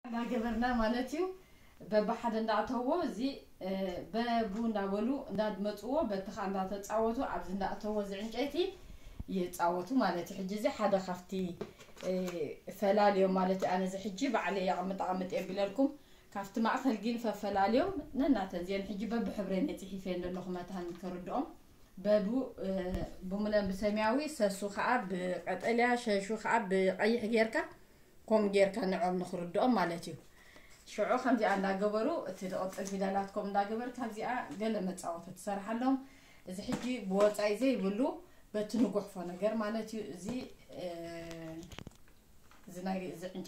እናገበርና ማለት እዩ። በብሓደ እንዳእተዎ እዚ በቡ እንዳበሉ እንዳመፅዎ በቲ ከዓ እንዳተፃወቱ ኣብዚ እንዳእተዎ እዚ ዕንጨይቲ ይፃወቱ ማለት እዩ። ሕጂ እዚ ሓደ ካብቲ ፈላልዮም ማለት እዩ። ኣነ እዚ ሕጂ ባዕለ የቕምጥ ኣቕምጥ የቢለልኩም ካብቲ ማእኸል ግን ፈፈላልዮም ነናተን እዚአን ሕጂ በብሕብረን የፅሒፈ ዘለኹ መታን ከርድኦም በቡ ብሙለን ብሰማያዊ ሰሱ ከዓ ብቀጠልያ ሸሹ ከዓ ብቀይሕ ጌርካ ከም ጌርካ ንዖም ንኽርድኦም ማለት እዩ። ሽዑ ከምዚኣ እንዳገበሩ እቲ ዝቕፅል ፊደላት ከም እንዳገበር ካብዚኣ ገለ መፃወቲ ትሰርሓሎም። እዚ ሕጂ ብወፃኢ ዘይብሉ በቲ ንጉሕፎ ነገር ማለት እዩ። እዚ እዚ ናይ እዚ ዕንጨ